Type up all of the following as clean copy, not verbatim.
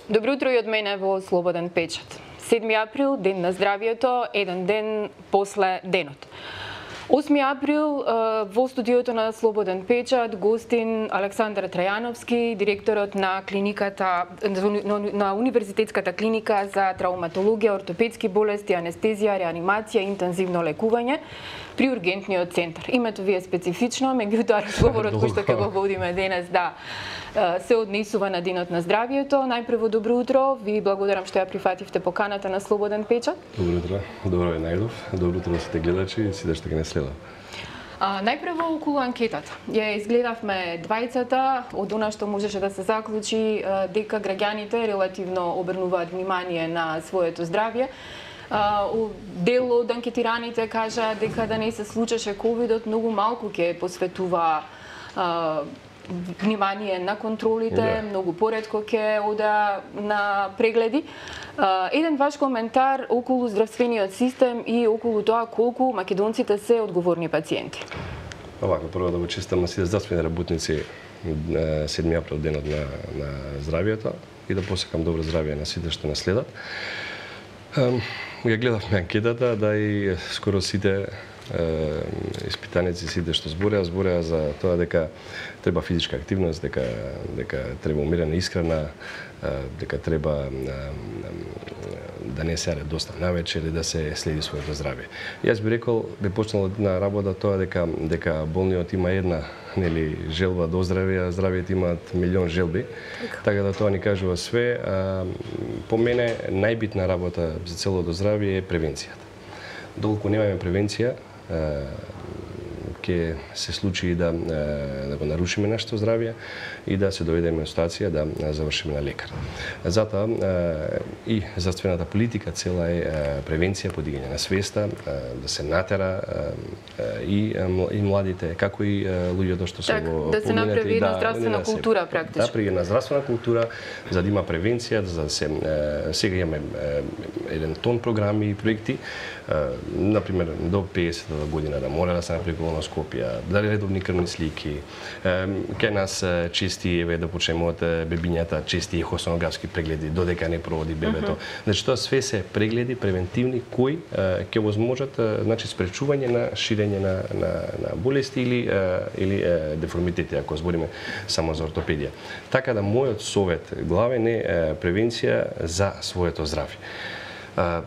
Добро утро и од мене во Слободен печат. 7 април, ден на здравието, еден ден после денот. 8 април во студиото на Слободен печат гостин Александар Трајановски, директорот на клиниката на Универзитетската клиника за травматологија, ортопедски болести, анестезија, реанимација и интензивно лекување при ургентниот центар. Името ви е специфично, меѓутоа разговорот кој што ќе го водиме денес се однесува на денот на здравието. Најпрво добро утро, ви благодарам што ја прифативте поканата на Слободен печат. Добро утро, добро е најдов, добро утро на сите гледачи и сите што ќе не следат. Најпрво околу анкетата. Ја изгледавме двајцата, од она што можеше да се заклучи дека граѓаните релативно обрнуваат внимание на своето здравје. Дел од анкетираните кажа дека да не се случеше ковидот, многу малку ќе посветува внимание на контролите, многу поретко ќе ода на прегледи. Еден ваш коментар околу здравствениот систем и околу тоа колку македонците се одговорни пациенти. Овако, прво да го честам на сите здравствени работници 7 април, денот на здравието, и да посекам добро здравје на сите што нас следат. Ја гледавме анкетата, да и скоро сите испитаници, сите што збореа за тоа дека треба физичка активност, дека треба умерена исхрана, дека треба да не се јаде доста навечер и да се следи своето здравје. Јас би рекол, би почнал на работа тоа дека болниот има една желба до здравје, а здравјето имаат милион желби. Така да тоа ни кажува све. По мене најбитна работа за целото здравје е превенцијата. Доколку немаме превенција, ќе се случи да го нарушиме нашето здравје и да се доведеме во ситуација да завршиме на лекар. Затоа и здравствената политика цела е превенција, подигање на свеста, да се натера и младите, како и луѓето што се во да се направи една здравствена култура практично. Да, при една здравствена култура, за да има превенција, за да се сега имаме еден тон програми и проекти, например до 50-та година да мора да се направи колоноскопија, да редовни крвни слики, кај нас чести да почнеме од бебињата, чести ехосонографски прегледи додека не проводи бебето. Значи тоа све се прегледи превентивни кои ќе возможат значи спречување на ширење на болести или деформитети, ако збориме само за ортопедија. Така да мојот совет главен е превенција за своето здравје.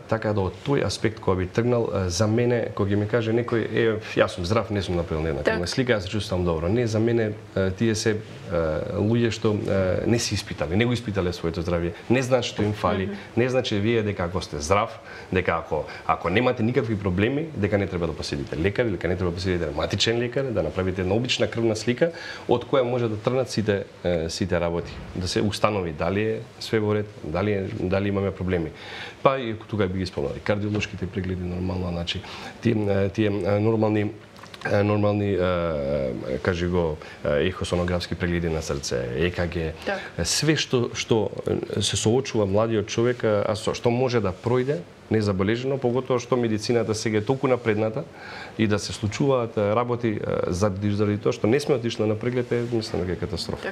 Така да од тој аспект кој би тргнал, за мене, кога ми каже некој, јас сум здрав, не сум направил една крвна слика, јас се чувствувам добро. Не, за мене тие се луѓе што не си испитале, не го испитале своето здравје, не знаат што им фали, не значи вие дека ако сте здрав, дека ако немате никакви проблеми, дека не треба да посетите лекар, дека не треба да посетите ревматичен лекар, да направите една обична крвна слика, од која може да тргнат сите работи, да се установи дали е све во ред, дали имаме проблеми. Па и тука би ги спомнали кардиолошките прегледи нормално, значи тие нормални кажи го ехосонографски прегледи на срце, ЕКГ, све што се соочува младиот човек, што може да пројде незабележено, поготоа што медицината сега е толку напредната и да се случуваат работи заради тоа што не сме отишли на преглед, мислам дека е катастрофа.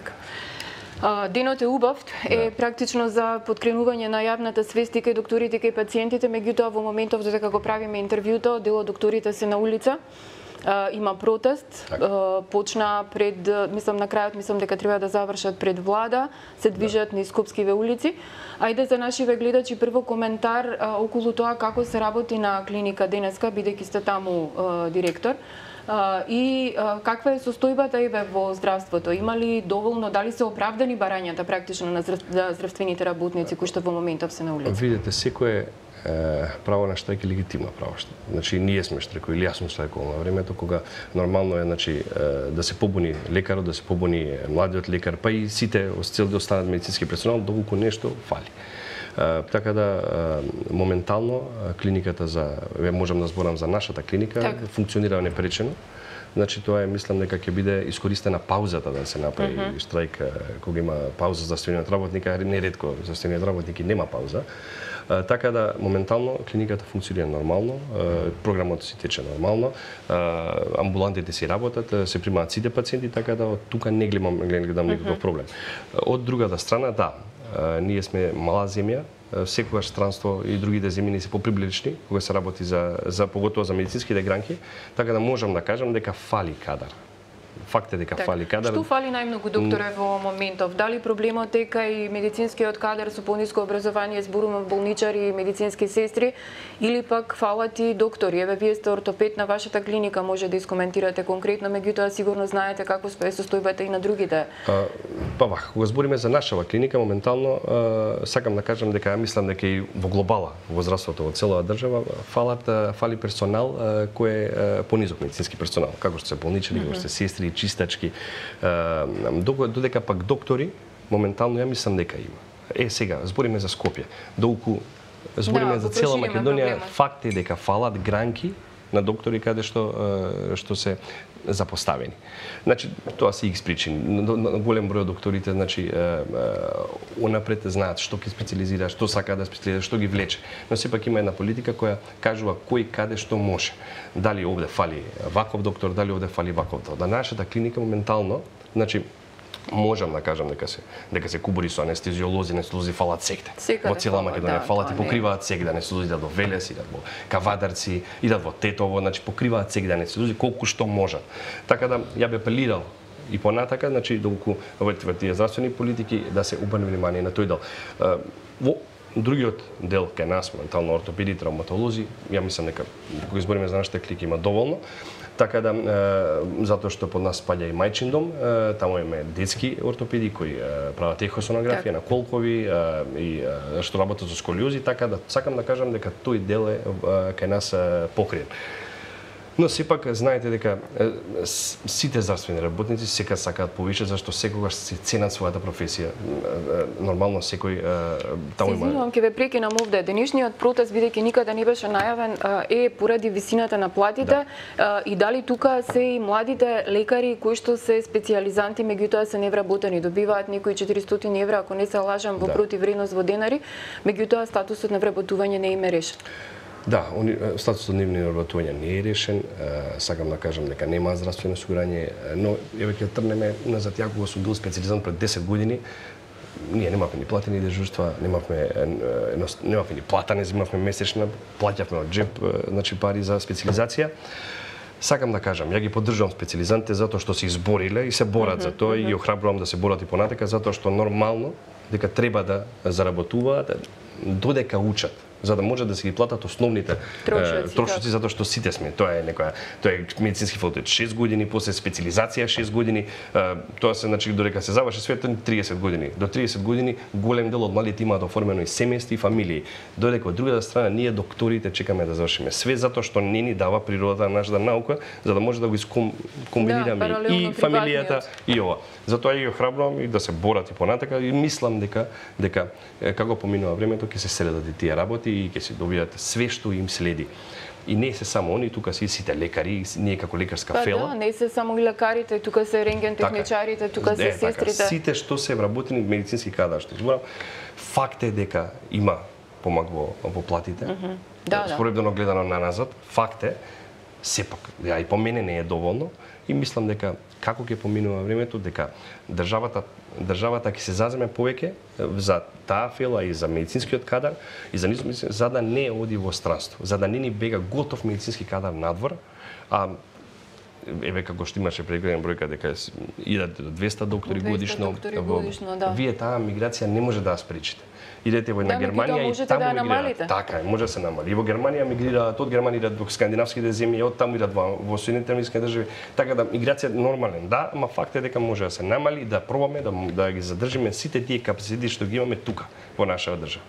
Денот е убав, е практично за подкренување на јавната свест и кај докторите и кај пациентите, меѓутоа во моментов додека го правиме интервјуто, дел од докторите се на улица. Има протест, почна пред, на крајот мислам дека треба да завршат пред влада, се движат низ Скопскиве улици. Ајде за нашиве гледачи прво коментар околу тоа како се работи на клиника денеска, бидејќи сте таму директор. И каква е состојбата во здравството? Има ли доволно, дали се оправдани барањата практично на здравствените работници кои што во моментов се на улица? Видете, секое право на штрајк е легитимно право. Значи ние сме штрајкови, или јас сум штрајковал на времето кога нормално е да се побуни лекарот, да се побуни младиот лекар, па и сите цел да останат медицински персонал доколку нешто фали. Така да моментално клиниката можам да зборам за нашата клиника, функционира непречено. Значи тоа мислам дека ќе биде искористена паузата да се направи штрајк кога има пауза за здравствениот работник, а неретко здравствениот работник и нема пауза. Така да моментално клиниката функционира нормално, програмот си тече нормално, амбулантите си работат, се примаат сите пациенти, така да од тука не гледам никаков проблем. Од другата страна, да, ние сме мала земја, секогаш странство и другите земји се поприближни кога се работи за поготово за медицинските гранки, така да можам да кажам дека фали кадар. Факт е дека фали кадар. Што фали најмногу, докторе, во моментов? Дали проблемот е кај медицинскиот кадар со пониско образование, зборувам болничари и медицински сестри, или пак фалат и доктори? Еве, вие сте ортопед на вашата клиника, може да искоментирате конкретно, меѓутоа сигурно знаете како е состојбата и на другите. Па вака, кога збориме за нашава клиника, моментално сакам да кажам дека мислам дека и во глобала, во здравството во целава држава фали персонал кој е понизок медицински персонал, како што се болничари, како што се сестри, чистачки, додека пак доктори, моментално ја мислам дека има. Сега, збориме за Скопје. Долку збориме за цела Македонија, факт е дека фалат гранки на доктори каде што се запоставени. Значи, тоа се икс причини. Голем број од докторите, значи, унапред знаат што ќе специализира, што сака да специализира, што ги влече. Но сепак има една политика која кажува кој каде што може. Дали овде фали ваков доктор, дали овде фали ваков доктор. Да нашата клиника моментално, значи, можам да кажам дека се кубури со анестезиолози фалат секде. Во цела Македонија фалат и покриваат секде анестезиолози, идат во Велес, идат во Кавадарци, идат во Тетово, значи покриваат секде анестезиолози колку што можат. Така да ја би апелирал и понатака, значи доколку во тие здравствени политики да се обрне внимание на тој дел. Во другиот дел кај нас, моментално ортопеди, травматолози, ја мислам дека кога збориме за нашата клиника има доволно. Така да, затоа што под нас спаѓа и мајчин дом, таму имаме детски ортопеди кои прават ехосонографија на колкови и што работат со сколиози, така да сакам да кажам дека тој дел е кај нас покриен. Но сепак знаете дека сите здравствени работници секогаш сакаат повише, зашто секогаш се ценат својата професија. Нормално секој таму има. Извинувам, ќе ве прекинам овде. Денешниот протест, бидејќи никаде не беше најавен, е поради висината на платите и дали тука се и младите лекари кои што се специјализанти, меѓутоа се невработени, добиваат некои 400 евра, ако не се лажам, во противвредност во денари, меѓутоа статусот на вработување не им е решен. Да, статусот на нивни вработување не е решен. Сакам да кажам дека нема здравствено осигурање, но еве ќе трнеме назад, ја кога сум бил специјализант пред 10 години, ние немавме ни платени дежурства, немавме ни плата, не земавме месечна, плаќавме од джеб, значи пари за специјализација. Сакам да кажам, ја ги поддржувам специјализантите затоа што се избориле и се борат за тоа и ги охрабрувам да се борат и понатака затоа што нормално дека треба да заработуваат додека учат, за да може да се ги платат основните трошоци, затоа што сите сме. Тоа е медицински факултет 6 години, после специализација 6 години, тоа се значи додека се заврши светот 30 години. До 30 години голем дел од младите имаат оформено и семејства и фамилии. Додека од другата страна ние докторите чекаме да завршиме. Све затоа што не ни дава природата на нашата наука, за да може да го комбинираме и фамилијата и ова. Затоа ја ги охрабрувам и да се борат и понатака и мислам дека како поминува времето ќе се следат и тие работи и ќе се добијат све што им следи. И не се само они, тука се и сите лекари, ние како лекарска фела. Да, не се само и лекарите, тука се рентген техничарите, тука се сестрите. Сите што се вработени медицински кадар, што зборам, факт е дека има помак во платите. Споредно гледано на назад, факт е, сепак, и по мене не е доволно и мислам дека како ќе поминува времето, дека државата ќе се заземе повеќе за таа фела и за медицинскиот кадар и за да не оди во странство, за да не ни бега готов медицински кадар надвор, еве како што имаше прегледен бројка дека идат 200 доктори годишно, вие таа миграција не може да ја спречите. Идете во една Германија и таму мигрираат. Така е, може да се намали. И во Германија мигрираат, од Германија идат во скандинавските земји, од таму идат во Соединетите американски држави. Така да миграција е нормален. Да, ама факт е дека може да се намали, да пробаме да ги задржиме сите тие капацитети што ги имаме тука во нашава држава.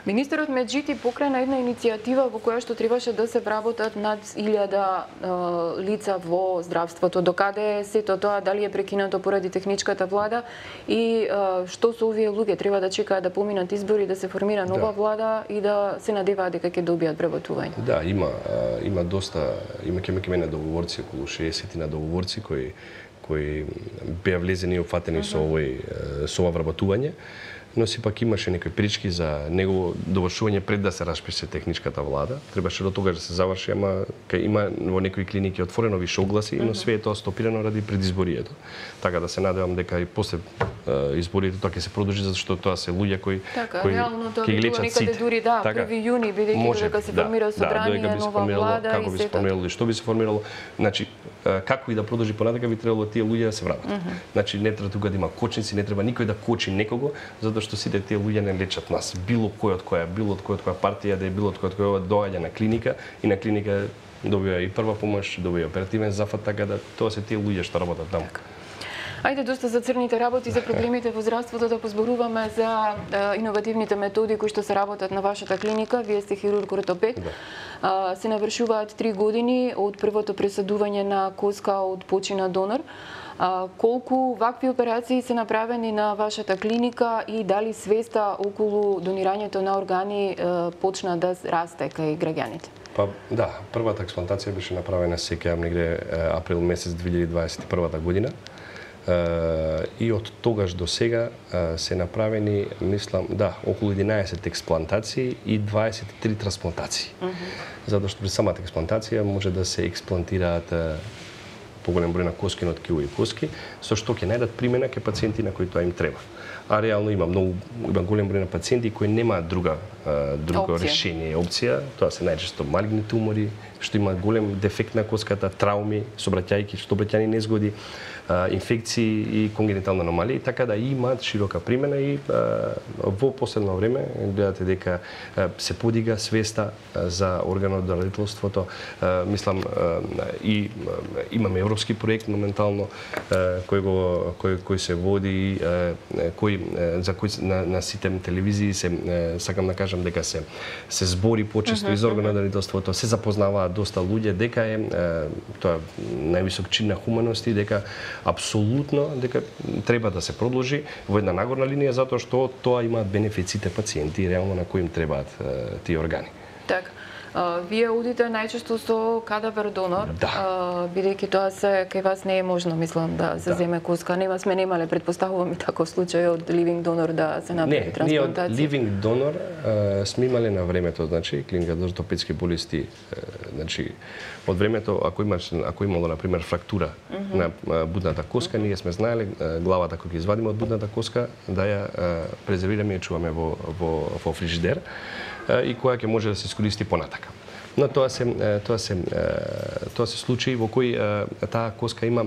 Министерот Меджити покрена една иницијатива во која што требаше да се вработат над 1000 лица во здравството. Докаде е сето тоа, дали е прекинато поради техничката влада и што со овие луѓе треба да чекаат да поминат избори, да се формира нова влада и да се надеваат дека ќе добијат вработување? Да, има доста, има мене договорци, околу 60 на договорци кои беа влезени и опфатени со ова вработување. но сепак имаше некои прички за негово довршување пред да се распише техничката влада. Требаше до тогаш да се заврши, ама кај има во некои клиники отворено више огласи, но све е тоа стопирано ради предизборието. Така да се надевам дека и после изборите тоа ќе се продолжи, затоа што тоа се луѓе кои реално тоа би било некаде дури 1 јуни, бидејќи дека се формира собрание, нова влада како би се формирало и што би се формирало. Значи, како и да продолжи понатака, би требало тие луѓе да се вратат. Значи, не треба тука да има кочници, не треба никој да кочи некого, затоа што сите тие луѓе не лечат нас. Било кој од која партија да е, било од која доаѓа на клиника и на клиника добива и прва помош, добива оперативен зафат, така да тоа се тие луѓе што работат таму. Ајде доста за црните работи, за проблемите во здравството да позборуваме, за иновативните методи кои што се работат на вашата клиника. Вие сте хирург-ортопед. Се навршуваат 3 години од првото пресадување на коска од почина донор. Колку вакви операции се направени на вашата клиника и дали свеста околу донирањето на органи почна да расте кај граѓаните? Па да, првата експлантација беше направена сеќавам негде април месец 2021 година. И од тогаш до сега се направени, мислам, околу 11 експлантации и 23 трансплантации. Затоа што при самата експлантација може да се експлантираат поголем број на коски, на ткиво и коски, со што ќе најдат примена кај пациенти на кои тоа им треба. А реално има голем број на пациенти кои немаат друго решение, опција. Тоа се најчесто малигни тумори, што има голем дефект на коската, трауми, сообраќајки, сообраќајни незгоди, инфекции и конгенитални аномалии, така да имаат широка примена и во последно време гледате дека се подига свеста за органот до родителството. Мислам и имаме европски проект моментално кој се води на сите телевизии сакам да кажам дека се збори почесто и за органот до родителството, се запознаваат доста луѓе дека е тоа највисок чин на хуманост и дека апсолутно дека треба да се продолжи во една нагорна линија затоа што тоа имаат бенефиците пациенти реално на кои им требаат тие органи. Така. Вие одите најчесто со кадавер донор, бидејќи тоа се кај вас не е можно, мислам, да се земе коска. Сме немале, предпоставувам и таков случај од ливинг донор да се направи трансплантација. Не, ние од ливинг донор сме имале на времето, значи клиника за ортопедски болести, значи од времето ако имало на пример фрактура на будната коска, ние сме знаеле главата кога ќе извадиме од будната коска да ја презервираме и чуваме во фрижидер и која ќе може да се искористи понатака. Но тоа се случаи во кои таа коска има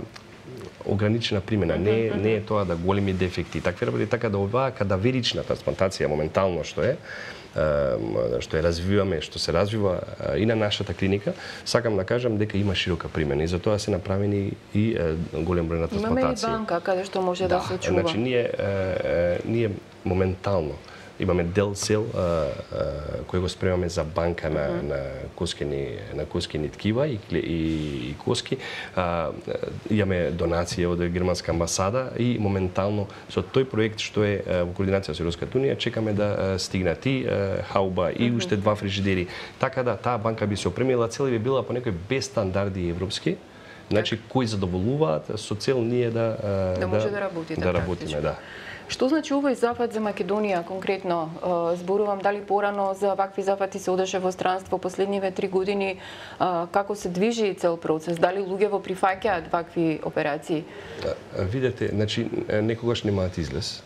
ограничена примена, не е тоа да големи дефекти. Такви работи, така да оваа кадаверична трансплантација моментално што ја развиваме, што се развива и на нашата клиника, сакам да кажам дека има широка примена и затоа се направени и голем број на трансплантации. Имаме и банка каде што може да се чува. Значи ние моментално имаме дел сел кој го спремаме за банка на коскени ткива и коски. Имаме донација од германска амбасада и моментално со тој проект што е во координација со Европската унија чекаме да стигнат и хауба и уште 2 фрижидери. Така да таа банка би се опремила, цел би била по некои без стандарди европски, значи кои задоволуваат со цел ние да може да работиме, да. Што значи овој зафат за Македонија конкретно? Зборувам дали порано за вакви зафати се одеше во странство последниве 3 години, како се движи цел процес? Дали луѓе во прифаќаат вакви операции? Видете, значи некогаш немаат излез.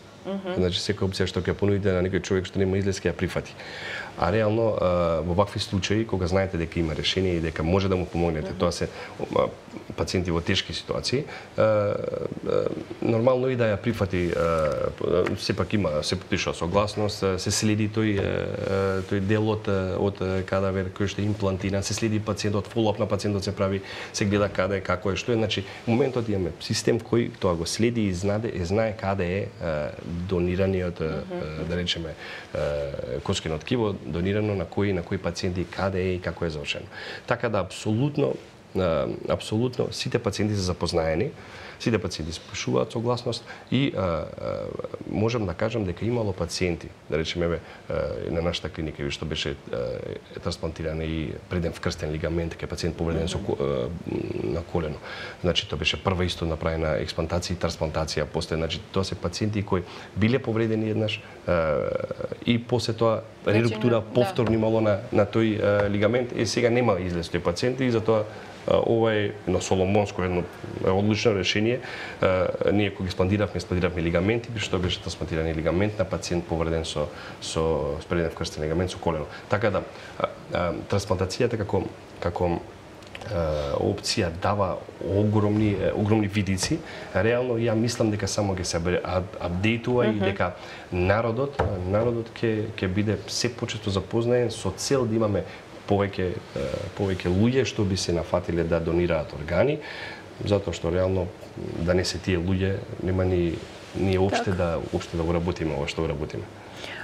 Значи секоја опција што ќе понудите на некој човек што нема излез ќе ја прифати. А реално во вакви случаи кога знаете дека има решение и дека може да му помогнете, тоа се пациенти во тешки ситуации, нормално и да ја прифати, сепак има, се подпишува согласност, се следи тој дел од кадавер кој што е имплантиран, се следи пациентот, фоллоуп на пациентот се прави, се гледа каде, како е, што е, значи моментот имаме систем кој тоа го следи и знае каде е донираниот, да речеме, коскено ткиво, донирано на кои пациенти, каде е и како е завршено. Така да апсолутно апсолутно сите пациенти се запознаени, сите пациенти спишуваат согласност и можам да кажам дека имало пациенти, да речеме на нашата клиника што беше трансплантиран и преден вкрстен лигамент, кај пациент повреден на колено. Значи тоа беше прва исто направена експлантација и трансплантација, после значи тоа се пациенти кои биле повредени еднаш и после тоа реруптура повторно имало на тој лигамент и сега нема излез тој пациент и затоа ова е едно соломонско, едно одлично решение. Ние кога експлантиравме лигаменти, што беше трансплантиран лигамент на пациент повреден со преден вкрстен лигамент со колено. Така да трансплантацијата како опција дава огромни видици. Реално ја мислам дека само ќе се апдейтува и дека народот ќе биде се почесто запознаен со цел да имаме повеќе луѓе што би се нафатиле да донираат органи, затоа што реално да не се тие луѓе нема ние опште да го работиме ова што го работиме.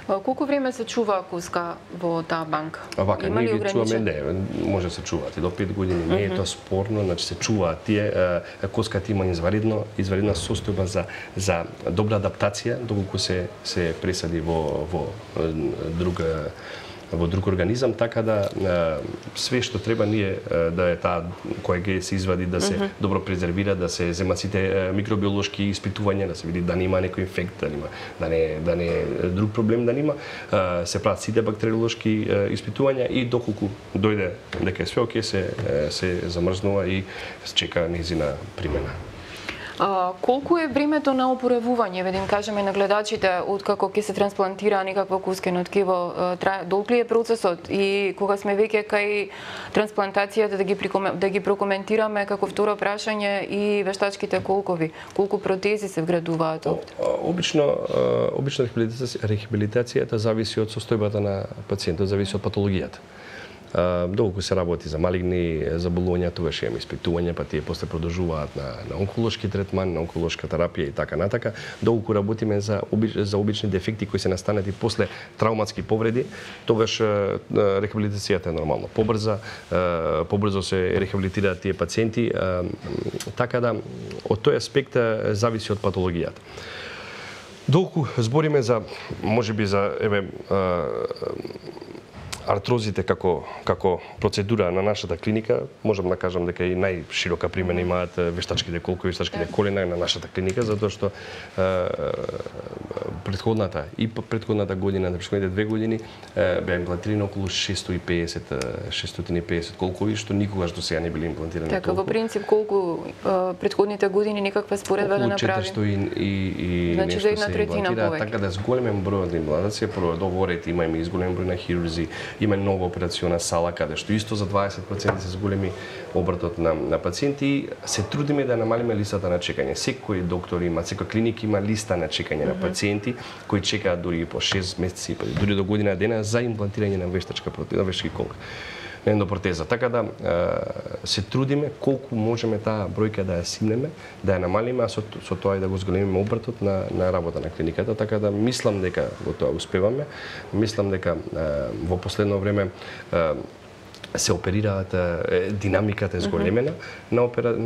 Колку време се чува коска во таа банка? Вака, ние ги чуваме, може да се чуваат и до 5 години, не е тоа спорно, значи се чуваат тие, коската има изваридна состојба за добра адаптација, доколку се пресади во друг организам, така да све што треба ние да е таа која ќе се извади да се добро презервира, да се земат сите микробиолошки испитувања, да се види да нема некој инфект, да не е друг проблем да нема, се прават сите бактериолошки испитувања и доколку дојде дека е све окей, се замрзнува и се чека нејзина примена. Колку е времето на опоравување, да им кажеме на гледачите, откако ќе се трансплантира некакво кускено ткиво, долг ли е процесот и кога сме веќе кај трансплантацијата да ги прокоментираме како второ прашање и вештачките колкови, колку протези се вградуваат? Обично рехабилитацијата зависи од состојбата на пациентот, зависи од патологијата. Доколку се работи за малигни заболувања, тогаш имаме испитувања, па тие после продолжуваат на онколошки третман, на онколошка терапија и така натака. Доколку работиме за обични дефекти кои се настанати после травматски повреди, тогаш рехабилитацијата е нормално побрзо се рехабилитираат тие пациенти, така да од тој аспект зависи од патологијата. Доколку збориме за можеби за артрозите како процедура на нашата клиника, можам да кажам дека и најширока примена имаат вештачките колкови, вештачките колена на нашата клиника, затоа што предходната година, на предходните 2 години беа имплантирани околу 650 колкови, што никогаш до сега не биле имплантирани. Така, во принцип, колку предходните години некаква споредба да направи? Околу 400 и значи за една третина повеќе. Така да зголемен број од имплантација, прво договорите имаме и зголемен број на хирурзи, има нова операциона сала каде што исто за 20 пациенти се зголеми обртот на пациенти и се трудиме да намалиме листата на чекање. Секој доктор има, секој клиника има листа на чекање на пациенти кои чекаат дури по 6 месеци, дури до година дена за имплантирање на вештачки колка, на ендопротеза. Така да се трудиме колку можеме таа бројка да ја симнеме, да ја намалиме, а со тоа и да го зголемиме обртот на работа на клиниката, така да мислам дека во тоа успеваме. Мислам дека во последно време се оперираат, динамиката е зголемена на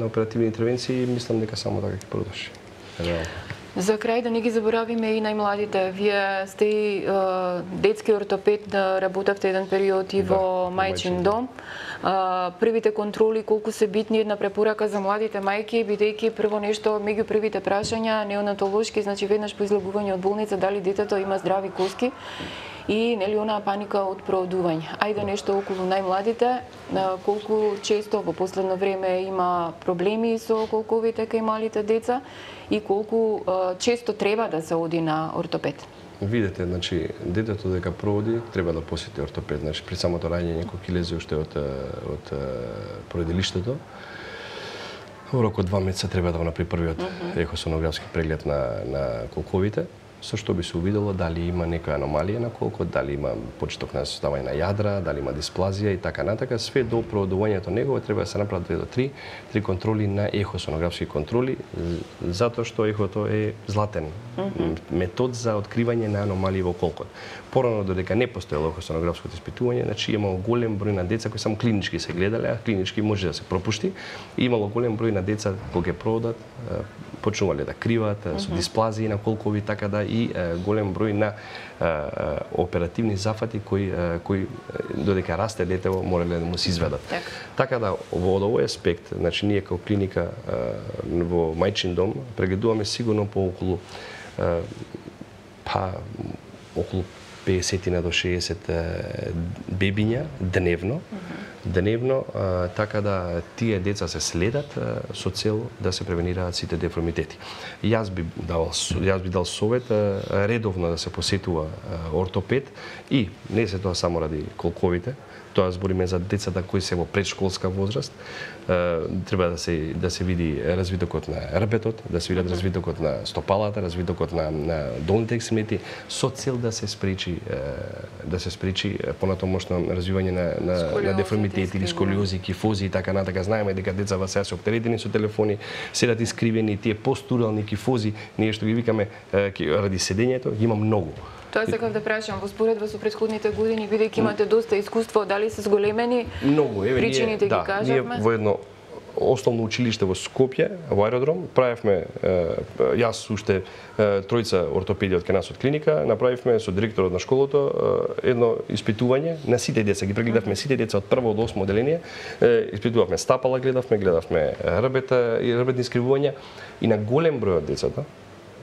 оперативни интервенции и мислам дека само така ќе продолжи. За крај да не ги заборавиме и најмладите. Вие сте и детски ортопед, да работевте еден период и во мајчин дом. Првите контроли колку се битни, една препорака за младите мајки, бидејќи прво нешто меѓу првите прашања неонатолошки, значи веднаш по излегување од болница дали детето има здрави коски и нели онаа паника од проодување. Ајде нешто околу најмладите, колку често во последно време има проблеми со колковите кај малите деца и колку често треба да се оди на ортопед. Видете, значи детето дека проводи треба да посети ортопед, значи при самото раѓање некој ќе лезе уште од породилиштето. Во рок од 2 месеца треба да го направи првиот ехосонографски преглед на колковите. со што би се увидело дали има некоја аномалија на колкот, дали има почеток на составање на јадра, дали има дисплазија и така натака. Све до продувањето него треба да се направат 2 до 3 контроли на ехосонографски контроли, затоа што ехото е златен метод за откривање на аномалии во колкот. Порано додека не постоело ехосонографското испитување, значи имало голем број на деца кои само клинички се гледале, а клинички може да се пропушти. И имало голем број на деца кога ќе продат, почнувале да криваат со дисплазии на колкови, така да и голем број на оперативни зафати кои додека расте детево морале да му се изведат. Така да во овој аспект, значи ние како клиника во мајчин дом прегледуваме сигурно по околу 50 до 60 бебиња дневно, така да тие деца се следат со цел да се превенираат сите деформитети. Јас би дал совет редовно да се посетува ортопед и не се тоа само ради колковите, тоа збориме за децата кои се во предшколска возраст, треба да се види развитокот на рбетот, да се види развитокот на стопалата, развитокот на долните екстремити, со цел да се спречи понатомошно развивање на деформитети или сколиози, кифози и така натака. Знаеме дека децата сега се оптеретени со телефони, седат искривени, тие постурални кифози, ние што ги викаме ради седењето, ги има многу. Тоа сакав да прашам, во споредба со претходните години, бидејќи имате доста искуство, дали се зголемени причините ги кажавме? Ние во едно основно училиште во Скопје, во аеродром, правевме, јас уште тројца ортопеди од кај нас од клиника, направивме со директорот на школото едно испитување на сите деца. Ги прегледавме сите деца од прво до 8 оделение, испитувавме стапала, гледавме рбета и рбетни искривувања и на голем број од децата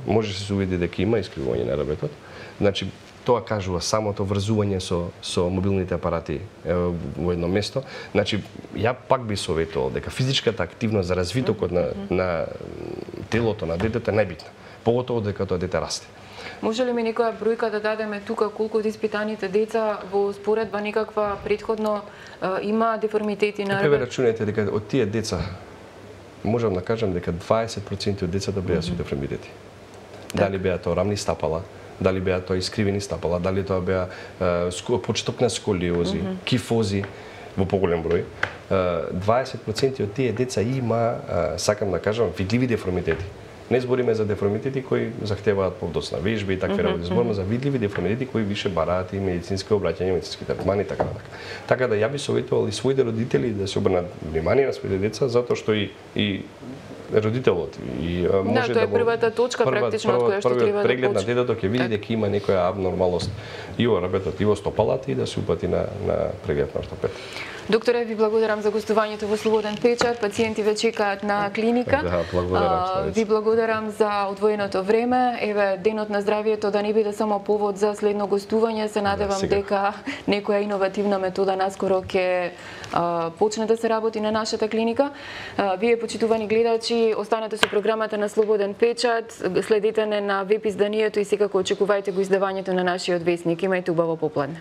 може се увиди дека има искривување на рбетот. Значи, тоа кажува самото врзување со мобилните апарати во едно место. Значи, ја пак би советувал дека физичката активност за развитокот на телото на детето е најбитна, поготово дека тоа дете расте. Може ли ми некоја бројка да дадеме тука колку од испитаните деца во споредба некаква претходно има деформитети на рбет? Рачунајте дека од тие деца можам да кажам дека 20% од децата беа со деформитети. Дали беа тоа рамни стапала, дали беа тоа искривени стапала, дали тоа беа почеток на сколиози, кифози во поголем број. 20% од тие деца има, сакам да кажам, видливи деформитети. Не збориме за деформитети кои захтеваат подоцна вежби и такви работи, збориме за видливи деформитети кои више бараат и медицински обраќања, медицински третмани и така натака. Така да ја би советувал и своите родители да се обрнат внимание на своите деца, затоа што и родителот и може да тоа е првата точка практично од која што треба да преглед на детето ќе види дека има некоја абнормалност и во рбетот и во стопалата и да се упати на преглед на ортопед. Докторе, ви благодарам за гостувањето во Слободен печат. Пациенти ве чекаат на клиника. Да, благодарам. Ви благодарам за одвоеното време. Еве, денот на здравието да не биде само повод за следно гостување. Се надевам дека некоја иновативна метода наскоро ќе почне да се работи на нашата клиника. Вие, почитувани гледачи, останете со програмата на Слободен печат. Следете на веб изданието и секако очекувајте го издавањето на нашиот весник. Имајте убаво попладне.